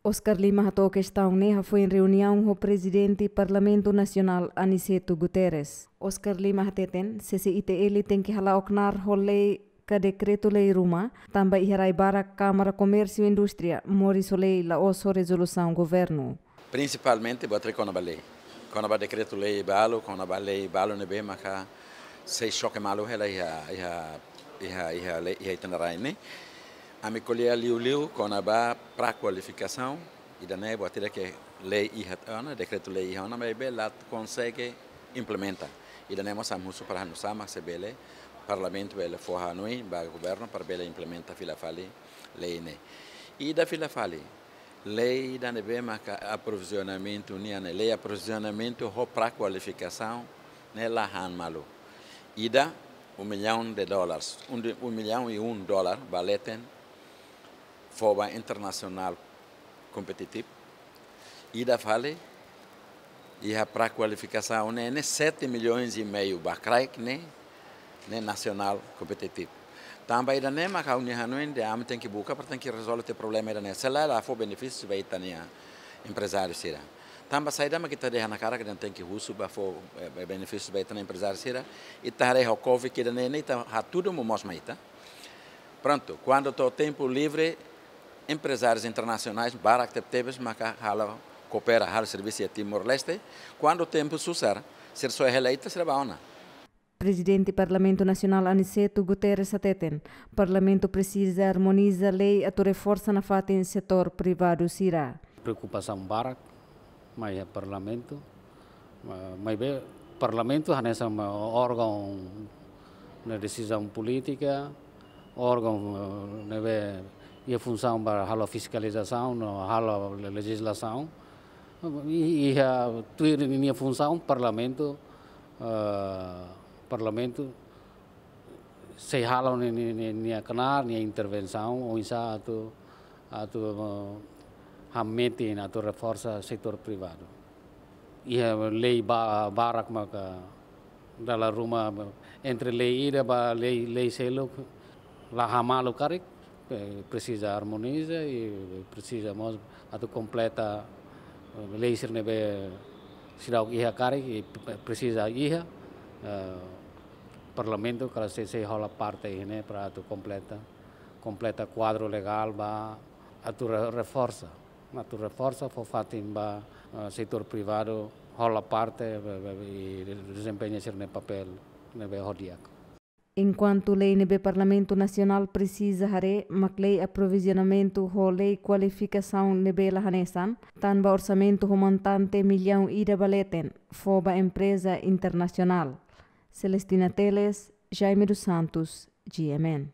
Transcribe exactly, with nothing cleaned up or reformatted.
Oscar Lima hato'o kestaun ne'e hafoin reuniaun ho Prezidente Parlamentu Nasionál Aniceto Guterres. Oscar Lima hateten, C C I T L tenke hala'o knaar ho lei ka dekretu-lei ruma, tanba iha rai barak Kámara Komérsiu Indústria moris ho lei la'ós ho rezolusaun governu. Prinsipalmente buat ida kona-ba lei. Kona-ba dekretu-lei balu, kona-ba lei balu ne'ebé maka sei xoke malu hela iha, iha, iha, iha lei, iha ita-nia rai ne'e. Ami ko'alia liuliu kona-ba pré-kualifikasaun, ida-ne'e buat ida ke lei iha ona, dekretu-lei iha ona, maibé la konsege implementa. Ida-ne'e mós ami husu para halo nu'usá mak sei bele, Parlamentu bele fó hanoin ba governu para bele implementa fila fali lei ne'e. Ida fila fali, lei ida ne'ebé maka aprovizionamentu nian ne'e, lei aprovizionamentu ho pré-kualifikasaun ne'e la han malu. Ida, um milhão de dólares, um de, um milhão e um dólar ba leten, fó ba internasionál kompetitivu. Ida fali, iha pré-kualifikasaun ne'e, ne'e sete milhões e meio ba kraik ne'e, ne'e nasionál kompetitivu. Tanba ida-ne'e maka ha'u-nia hanoin dehan ami tenke buka para tenke rezolve tiha problema ida-ne'e. Se lae la fó benefísiu ba ita-nia emprezáriu sira. Tanba saida mak ita dehan hakarak dehan tenke husu ba fó, eh, benefísiu ba ita-nia emprezáriu sira. Ita haree ho covid ida-ne'e, ne'e ita hatudu momoos mai ita. Prontu, kuandu to'o tempu livre, emprezárius internasionais barak tebetebes maka halo koopera, halo servisu iha Timor-Leste. Kuandu tempu susar, sira soe hela ita, sira bá ona. Prezidente Parlamentu Nasionál Aniceto Guterres hateten, Parlamentu presiza armoniza lei atu reforsa nafatin setór privadu sira. Preokupasaun barak mai iha Parlamentu. Ma-, maibé Parlamentu hanesan órgaun ne'e desizaun polítika, órgaun, eh, ne'ebé iha funsaun ba halo fiskalizasaun no halo le-, lejizlasaun. I, iha tuir ninia funsaun Parlamentu, eh, Parlamentu sei halo ni-, ni-, ni-, nia knaar, nia intervensaun, oinsá atu, atu, eh, hametin, atu reforsa setór privadu. Iha lei ba-, barak maka dala ruma entre lei ida ba lei, lei seluk la han malu karik, eh, presiza armoniza i presiza mós atu kompleta, eh, lei sira ne'ebé seidauk iha karik i pre-, presiza iha, eh, Parlamentu kala sei, sei hola parte iha ne'e para atu kompleta, kompleta kuadru legál ba atu re-, reforsa, atu reforsa fó fatin ba, eh, setór privadu hola parte, be-, be-, i dezempeña sira-nia papél ne'ebé ho di'ak. Enkuantu lei ne'ebé Parlamentu Nasionál presiza haree mak lei aprovizionamentu ho lei kualifikasaun ne'ebé la hanesan, tanba orsamentu ho montante millaun ida ba leten fó ba empreza internasionál. Celestina Teles, Jaime dos Santos, G M N.